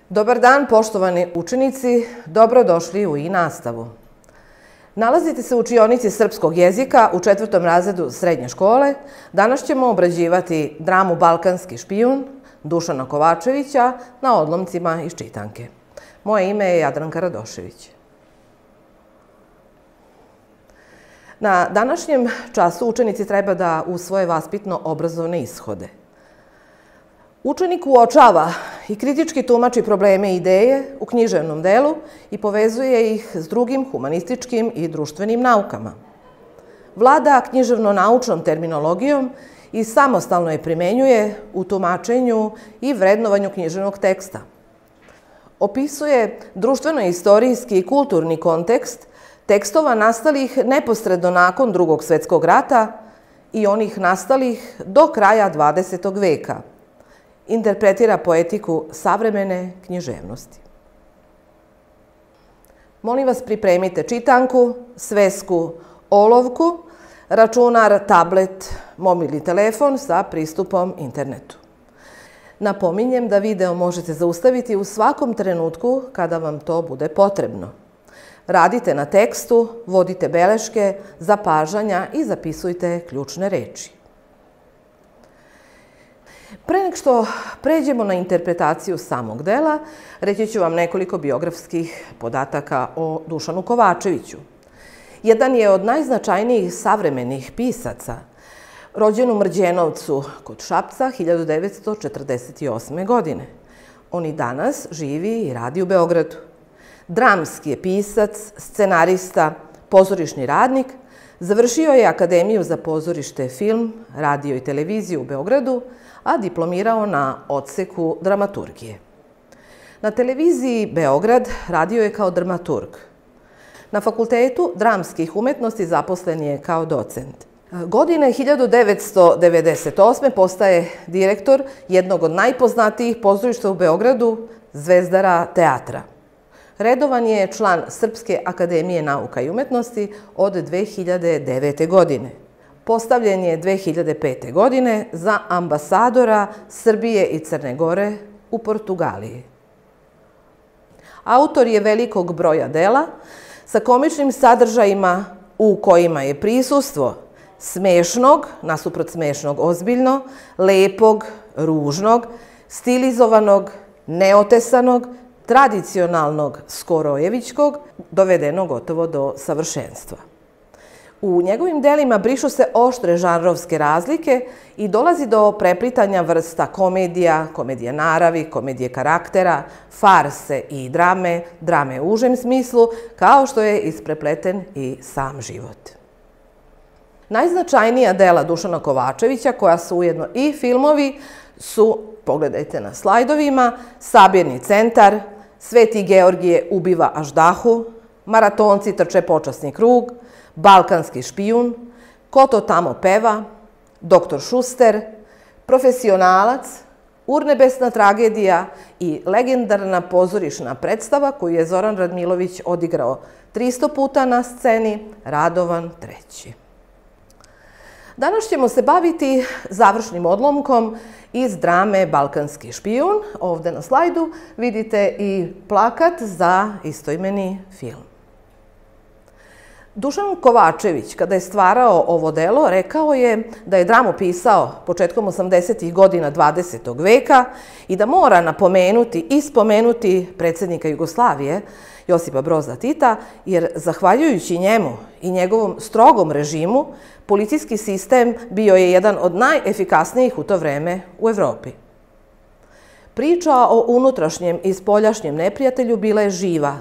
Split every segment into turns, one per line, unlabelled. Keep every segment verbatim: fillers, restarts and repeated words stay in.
Dobar dan, poštovani učenici, dobrodošli u i-nastavu. Nalazite se u učionici srpskog jezika u četvrtom razredu srednje škole. Danas ćemo obrađivati dramu Balkanski špijun Dušana Kovačevića na odlomcima iz čitanke. Moje ime je Jadranka Radošević. Na današnjem času učenici treba da usvoje vaspitno-obrazovne ishode. Učenik uočava i kritički tumači probleme i ideje u književnom delu i povezuje ih s drugim humanističkim i društvenim naukama. Vlada književno-naučnom terminologijom i samostalno je primenjuje u tumačenju i vrednovanju književnog teksta. Opisuje društveno-istorijski i kulturni kontekst tekstova nastalih neposredno nakon Drugog svjetskog rata i onih nastalih do kraja dvadesetog veka. Interpretira poetiku savremene književnosti. Molim vas, pripremite čitanku, svesku, olovku, računar, tablet, mobilni telefon sa pristupom internetu. Napominjem da video možete zaustaviti u svakom trenutku kada vam to bude potrebno. Radite na tekstu, vodite beleške, zapažanja i zapisujte ključne reči. Pre nego što pređemo na interpretaciju samog dela, reći ću vam nekoliko biografskih podataka o Dušanu Kovačeviću. Jedan je od najznačajnijih savremenih pisaca, rođen u Mrđenovcu kod Šapca hiljadu devetsto četrdeset osme. godine. On i danas živi i radi u Beogradu. Dramski je pisac, scenarista, pozorišni radnik, završio je Akademiju za pozorište, film, radio i televiziju u Beogradu, a diplomirao na odseku dramaturgije. Na televiziji Beograd radio je kao dramaturg. Na Fakultetu dramskih umetnosti zaposlen je kao docent. Godine hiljadu devetsto devedeset osme. postaje direktor jednog od najpoznatijih pozorišta u Beogradu, Zvezdara teatra. Redovan je član Srpske akademije nauka i umetnosti od dve hiljade devete. godine. Postavljen je dve hiljade pete. godine za ambasadora Srbije i Crne Gore u Portugaliji. Autor je velikog broja dela sa komičnim sadržajima u kojima je prisustvo smešnog, nasuprot smešnog ozbiljno, lepog, ružnog, stilizovanog, neotesanog, tradicionalnog skorojevićkog, dovedeno gotovo do savršenstva. U njegovim delima brišu se oštre žanrovske razlike i dolazi do preplitanja vrsta komedija, komedije naravi, komedije karaktera, farse i drame, drame u užem smislu, kao što je isprepleten i sam život. Najznačajnija dela Dušana Kovačevića, koja su ujedno i filmovi, su, pogledajte na slajdovima, Sabirni centar, Sveti Georgije ubiva Aždahu, Maratonci trče počasni krug, Balkanski špijun, Ko to tamo peva, Doktor Šuster, Profesionalac, Urnebesna tragedija i legendarna pozorišna predstava koju je Zoran Radmilović odigrao tristo puta na sceni, Radovan treći. Danas ćemo se baviti završnim odlomkom iz drame Balkanski špijun. Ovde na slajdu vidite i plakat za istoimeni film. Dušan Kovačević, kada je stvarao ovo delo, rekao je da je dramu pisao početkom osamdesetih godina dvadesetog veka i da mora napomenuti i spomenuti predsjednika Jugoslavije, Josipa Broza Tita, jer zahvaljujući njemu i njegovom strogom režimu, policijski sistem bio je jedan od najefikasnijih u to vreme u Evropi. Priča o unutrašnjem i spoljašnjem neprijatelju bila je živa.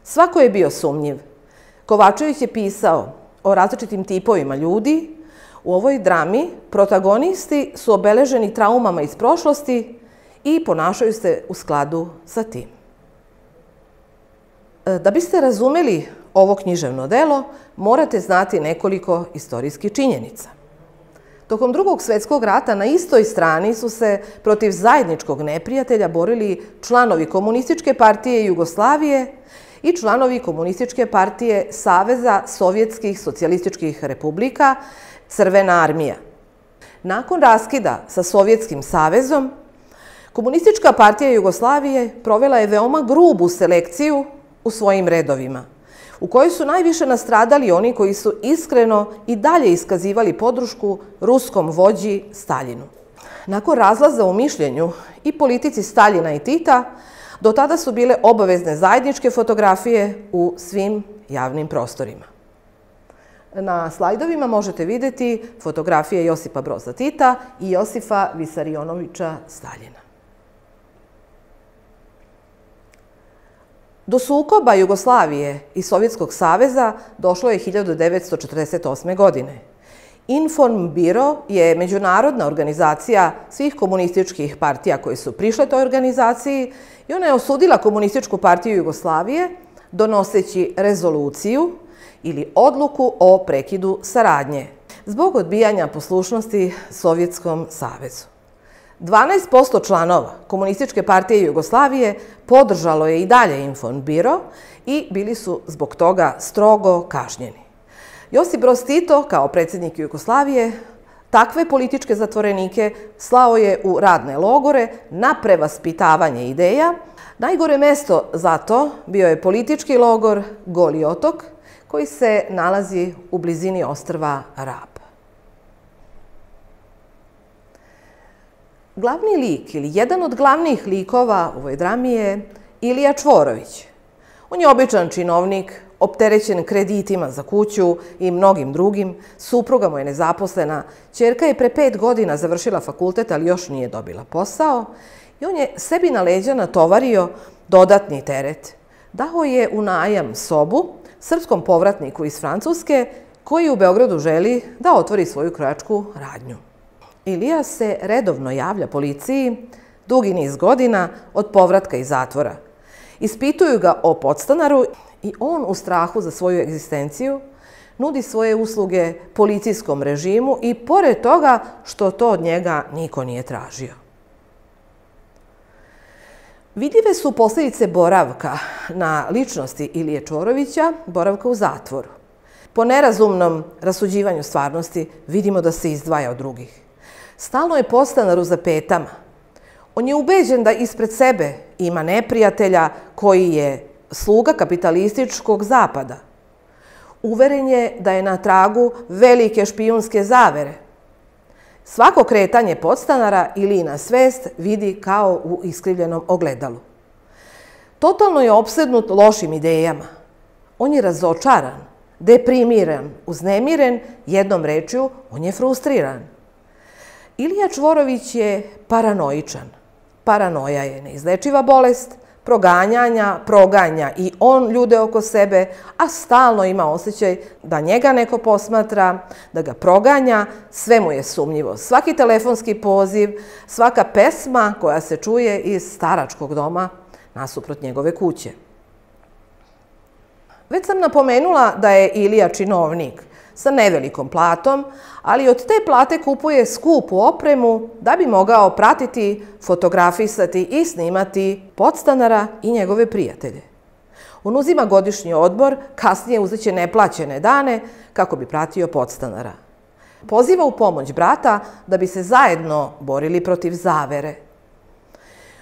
Svako je bio sumnjiv. Kovačević je pisao o različitim tipovima ljudi. U ovoj drami protagonisti su obeleženi traumama iz prošlosti i ponašaju se u skladu sa tim. Da biste razumeli ovo književno delo, morate znati nekoliko istorijskih činjenica. Tokom Drugog svjetskog rata na istoj strani su se protiv zajedničkog neprijatelja borili članovi Komunističke partije Jugoslavije i članovi Komunističke partije Saveza sovjetskih socijalističkih republika, Crvena armija. Nakon raskida sa Sovjetskim savezom, Komunistička partija Jugoslavije provela je veoma grubu selekciju u svojim redovima, u kojoj su najviše nastradali oni koji su iskreno i dalje iskazivali podršku ruskom vođi Staljinu. Nakon razlaza u mišljenju i politici Staljina i Tita, do tada su bile obavezne zajedničke fotografije u svim javnim prostorima. Na slajdovima možete vidjeti fotografije Josipa Broza Tita i Josifa Visarionoviča Staljina. Do sukoba Jugoslavije i Sovjetskog saveza došlo je hiljadu devetsto četrdeset osme. godine. Informbiro je međunarodna organizacija svih komunističkih partija koje su prišle toj organizaciji i ona je osudila Komunističku partiju Jugoslavije donoseći rezoluciju ili odluku o prekidu saradnje zbog odbijanja poslušnosti Sovjetskom savezu. dvanaest posto članova Komunističke partije Jugoslavije podržalo je i dalje Informbiro i bili su zbog toga strogo kažnjeni. Josip Broz Tito, kao predsjednik Jugoslavije, takve političke zatvorenike slao je u radne logore na prevaspitavanje ideja. Najgore mesto za to bio je politički logor Goli otok, koji se nalazi u blizini ostrva Rab. Glavni lik ili jedan od glavnih likova u ovoj drami je Ilija Čvorović. On je običan činovnik, opterećen kreditima za kuću i mnogim drugim. Supruga mu je nezaposlena, ćerka je pre pet godina završila fakultet, ali još nije dobila posao. I on je sebi na leđa natovario dodatni teret. Dao je u najam sobu srpskom povratniku iz Francuske koji u Beogradu želi da otvori svoju krojačku radnju. Ilija se redovno javlja policiji dugi niz godina od povratka iz zatvora. Ispituju ga o podstanaru i on u strahu za svoju egzistenciju nudi svoje usluge policijskom režimu i pored toga što to od njega niko nije tražio. Vidljive su posljedice boravka na ličnosti Ilije Čvorovića, boravka u zatvoru. Po nerazumnom rasuđivanju stvarnosti vidimo da se izdvaja od drugih. Stalno je podstanaru za petama. On je ubeđen da ispred sebe ima neprijatelja koji je sluga kapitalističkog zapada. Uveren je da je na tragu velike špijunske zavere. Svako kretanje podstanara Ilijina svest vidi kao u iskrivljenom ogledalu. Totalno je opsednut lošim idejama. On je razočaran, deprimiran, uznemiren, jednom rečju, on je frustriran. Ilija Čvorović je paranoičan. Paranoja je neizlečiva bolest, proganjanja, proganja i on ljude oko sebe, a stalno ima osjećaj da njega neko posmatra, da ga proganja, sve mu je sumnjivo. Svaki telefonski poziv, svaka pesma koja se čuje iz staračkog doma nasuprot njegove kuće. Već sam napomenula da je Ilija činovnik sa nevelikom platom, ali od te plate kupuje skupu opremu da bi mogao pratiti, fotografisati i snimati podstanara i njegove prijatelje. On uzima godišnji odmor, kasnije uzeće neplaćene dane kako bi pratio podstanara. Poziva u pomoć brata da bi se zajedno borili protiv zavere.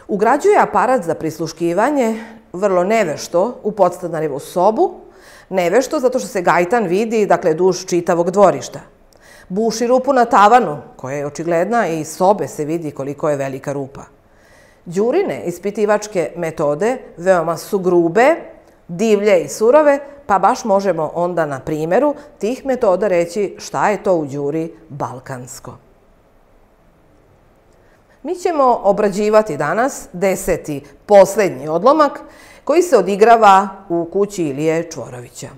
Ugrađuje aparat za prisluškivanje, vrlo nevešto, u podstanarevu sobu, nevešto zato što se gajtan vidi, dakle, duž čitavog dvorišta. Buši rupu na tavanu, koja je očigledna i iz sobe se vidi koliko je velika rupa. Đurine ispitivačke metode veoma su grube, divlje i surove, pa baš možemo onda na primjeru tih metoda reći šta je to u Đuri balkansko. Mi ćemo obrađivati danas deseti, poslednji odlomak koji se odigrava u kući Ilije Čvorovića.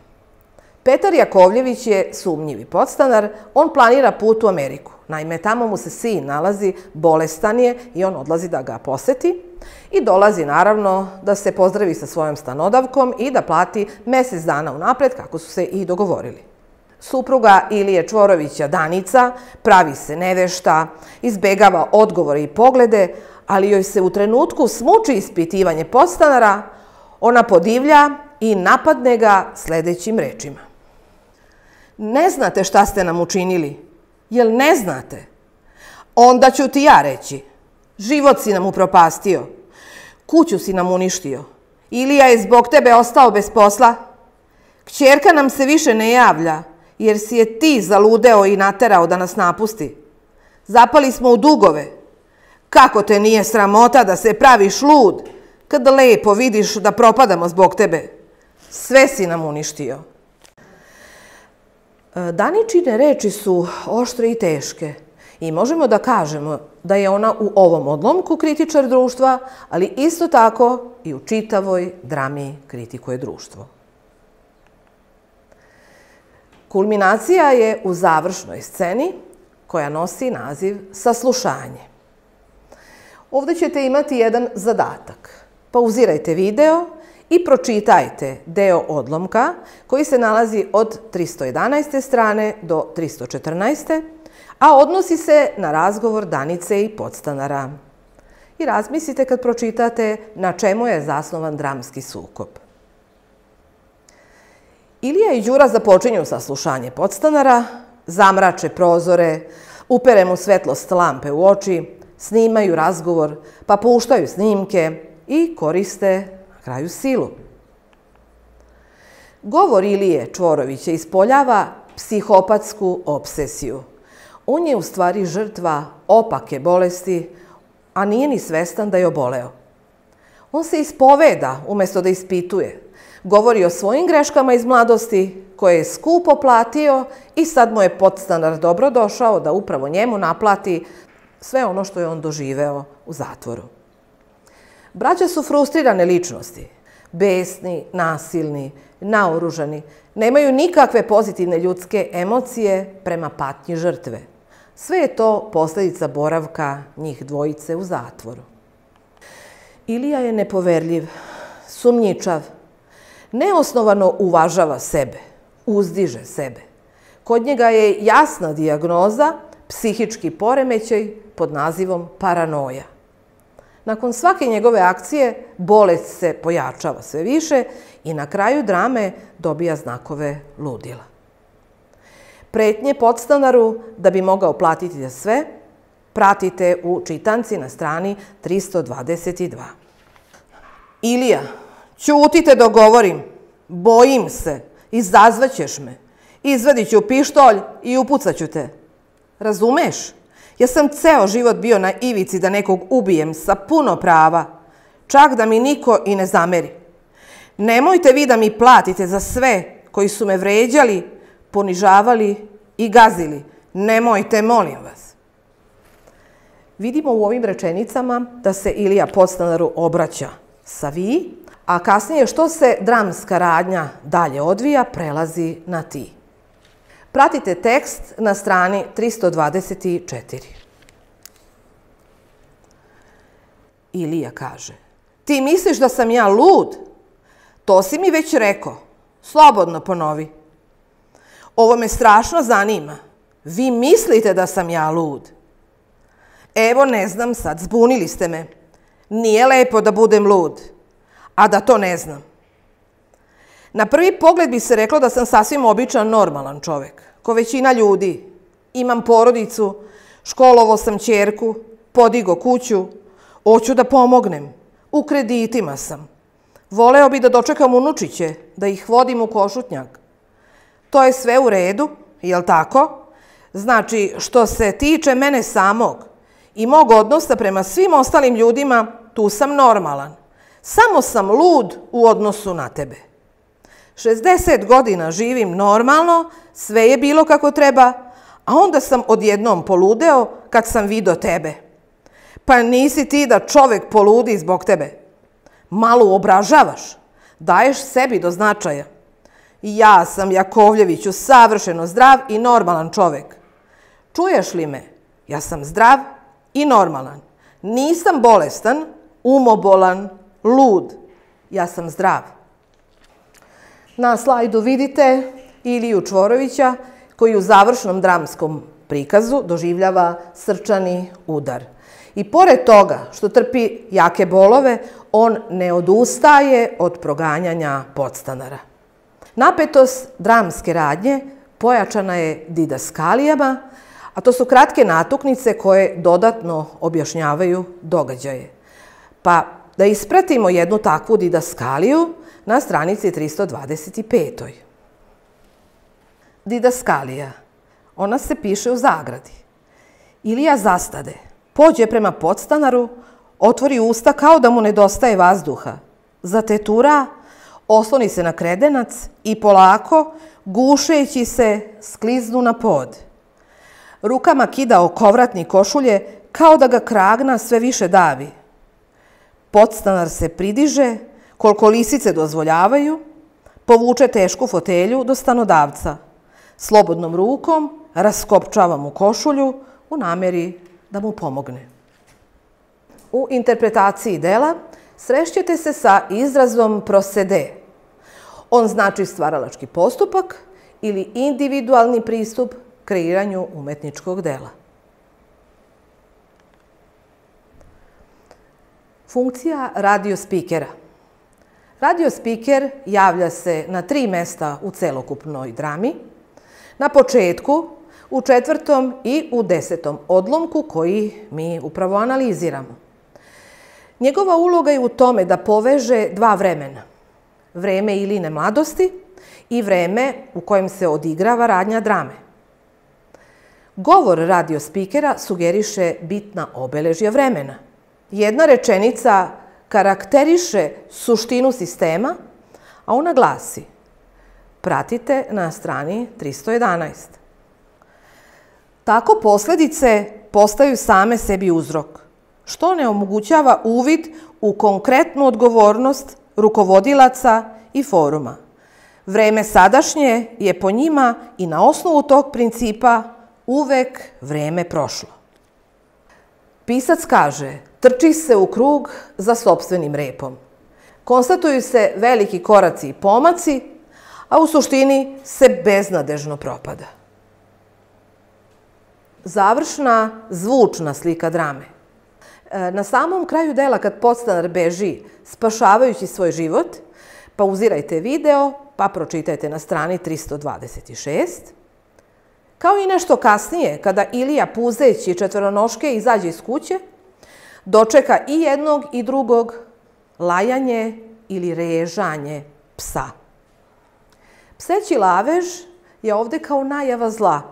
Petar Jakovljević je sumnjivi podstanar, on planira put u Ameriku. Naime, tamo mu se sin nalazi, bolestan je i on odlazi da ga poseti i dolazi naravno da se pozdravi sa svojom stanodavkom i da plati mesec dana unapred kako su se i dogovorili. Supruga Ilije Čvorovića, Danica, pravi se nevešta, izbegava odgovore i poglede, ali joj se u trenutku smuči ispitivanje podstanara, ona podivlja i napadne ga sledećim rečima. Ne znate šta ste nam učinili? Jel ne znate? Onda ću ti ja reći. Život si nam upropastio. Kuću si nam uništio. Ilija je zbog tebe ostao bez posla. Kćerka nam se više ne javlja, jer si je ti zaludeo i naterao da nas napusti. Zapali smo u dugove. Kako te nije sramota da se praviš lud, kad lepo vidiš da propadamo zbog tebe? Sve si nam uništio. Daničine reči su oštre i teške i možemo da kažemo da je ona u ovom odlomku kritičar društva, ali isto tako i u čitavoj drami kritikuje društvo. Kulminacija je u završnoj sceni koja nosi naziv Saslušanje. Ovdje ćete imati jedan zadatak. Pauzirajte video i pročitajte deo odlomka koji se nalazi od tristo jedanaeste strane do tristo četrnaeste, a odnosi se na razgovor Danice i podstanara. I razmislite kad pročitate na čemu je zasnovan dramski sukob. Ilija i Đura započinju saslušanje podstanara, zamrače prozore, upere mu svetlost lampe u oči, snimaju razgovor, pa puštaju snimke i koriste na kraju silu. Govor Ilije Čvorovića ispoljava psihopatsku obsesiju. On je u stvari žrtva opake bolesti, a nije ni svestan da je oboleo. On se ispoveda umjesto da ispituje. Govori o svojim greškama iz mladosti koje je skupo platio i sad mu je podstanar dobro došao da upravo njemu naplati sve ono što je on doživeo u zatvoru. Braća su frustrirane ličnosti, besni, nasilni, naoružani, nemaju nikakve pozitivne ljudske emocije prema patnji žrtve. Sve je to posljedica boravka njih dvojice u zatvoru. Ilija je nepoverljiv, sumnjičav, neosnovano uvažava sebe, uzdiže sebe. Kod njega je jasna dijagnoza psihički poremećaj pod nazivom paranoja. Nakon svake njegove akcije bolest se pojačava sve više i na kraju drame dobija znakove ludila. Pretnje podstanaru da bi mogao platiti za sve pratite u čitanci na strani tristo dvadeset dva. Ilija, ćutite dok govorim, bojim se, izazvaćeš me, izvadit ću pištolj i upucat ću te. Razumeš? Ja sam ceo život bio na ivici da nekog ubijem sa puno prava, čak da mi niko i ne zameri. Nemojte vi da mi platite za sve koji su me vređali, ponižavali i gazili. Nemojte, molim vas. Vidimo u ovim rečenicama da se Ilija podstanaru obraća sa vi, a kasnije što se dramska radnja dalje odvija, prelazi na ti. Pratite tekst na strani tristo dvadeset četiri. Ilija kaže: ti misliš da sam ja lud? To si mi već rekao. Slobodno ponovi. Ovo me strašno zanima. Vi mislite da sam ja lud? Evo, ne znam sad, zbunili ste me. Nije lepo da budem lud, a da to ne znam. Na prvi pogled bi se reklo da sam sasvim običan, normalan čovek, ko većina ljudi. Imam porodicu, školovo sam ćerku, podigo kuću, hoću da pomognem, u kreditima sam. Voleo bi da dočekam unučiće, da ih vodim u Košutnjak. To je sve u redu, jel tako? Znači, što se tiče mene samog i mog odnosa prema svim ostalim ljudima, tu sam normalan. Samo sam lud u odnosu na tebe. šezdeset godina živim normalno, sve je bilo kako treba, a onda sam odjednom poludeo kad sam vidio tebe. Pa nisi ti da čovek poludi zbog tebe. Malo obražavaš, daješ sebi do značaja. Ja sam, Jakovljeviću, savršeno zdrav i normalan čovek. Čuješ li me? Ja sam zdrav i normalan. Nisam bolestan, umobolan, lud. Ja sam zdrav. Na slajdu vidite Iliju Čvorovića koji u završnom dramskom prikazu doživljava srčani udar. I pored toga što trpi jake bolove, on ne odustaje od proganjanja podstanara. Napetost dramske radnje pojačana je didaskalijama, A to su kratke natuknice koje dodatno objašnjavaju događaje. Pa da ispratimo jednu takvu didaskaliju na stranici tristo dvadeset pet. Didaskalija. Ona se piše u zagradi. Ilija zastade, pođe prema podstanaru, otvori usta kao da mu nedostaje vazduha. Zatetura, osloni se na kredenac i polako, gušeći se, skliznu na pod. Rukama kida okovratnik košulje kao da ga kragna sve više davi. Podstanar se pridiže, koliko lisice dozvoljavaju, povuče tešku fotelju do stanodavca. Slobodnom rukom raskopčava mu košulju u nameri da mu pomogne. U interpretaciji dela srešćete se sa izrazom procede. On znači stvaralački postupak ili individualni pristup kreiranju umetničkog dela. Funkcija radiospikera. Radiospiker javlja se na tri mesta u celokupnoj drami. Na početku, u četvrtom i u desetom odlomku koji mi upravo analiziramo. Njegova uloga je u tome da poveže dva vremena. Vreme Iline mladosti i vreme u kojem se odigrava radnja drame. Govor radiospikera sugeriše bitna obeležja vremena. Jedna rečenica karakteriše suštinu sistema, a ona glasi: pratite na strani tristo jedanaest. Tako posledice postaju same sebi uzrok, što ne omogućava uvid u konkretnu odgovornost rukovodilaca i foruma. Vreme sadašnje je po njima i na osnovu tog principa uvek vreme prošlo. Pisac kaže: trči se u krug za sopstvenim repom. Konstatuju se veliki koraci i pomaci, a u suštini se beznadežno propada. Završna zvučna slika drame. Na samom kraju dela, kad podstanar beži spašavajući svoj život, pauzirajte video pa pročitajte na strani tristo dvadeset šest. Kao i nešto kasnije, kada Ilija puzeći četvoronoške izađe iz kuće, dočeka i jednog i drugog lajanje ili režanje psa. Pseći lavež je ovde kao najava zla.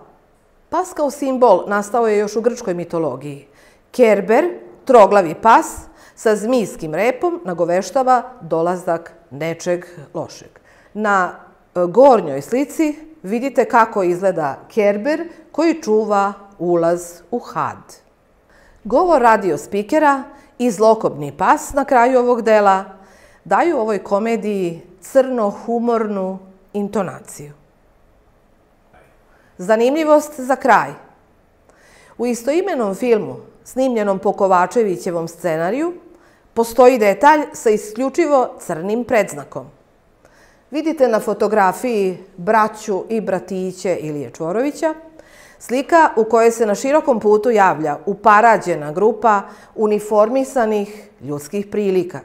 Pas kao simbol nastao je još u grčkoj mitologiji. Kerber, troglavi pas, sa zmijskim repom nagoveštava dolazak nečeg lošeg. Na gornjoj slici vidite kako izgleda Kerber koji čuva ulaz u had. Govor radiospikera i zlokobni pas na kraju ovog dela daju ovoj komediji crno-humornu intonaciju. Zanimljivost za kraj. U istoimenom filmu, snimljenom po Kovačevićevom scenariju, postoji detalj sa isključivo crnim predznakom. Vidite na fotografiji braću i bratiće Ilije Čvorovića, slika u kojoj se na širokom putu javlja uparađena grupa uniformisanih ljudskih prilika.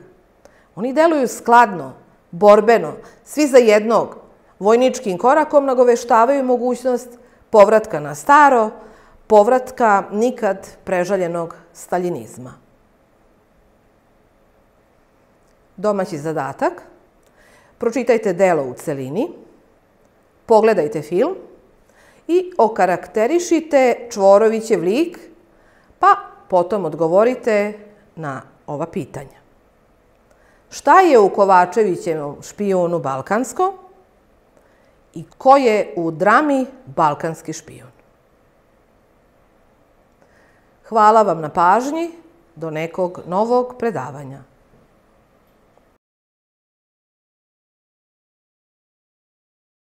Oni deluju skladno, borbeno, svi za jednog, vojničkim korakom nagoveštavaju mogućnost povratka na staro, povratka nikad prežaljenog staljinizma. Domaći zadatak. Pročitajte delo u celini, pogledajte film i okarakterišite Čvorovićev lik, pa potom odgovorite na ova pitanja. Šta je u Kovačevićevom špijunu balkansko i ko je u drami balkanski špijun? Hvala vam na pažnji, do nekog novog predavanja.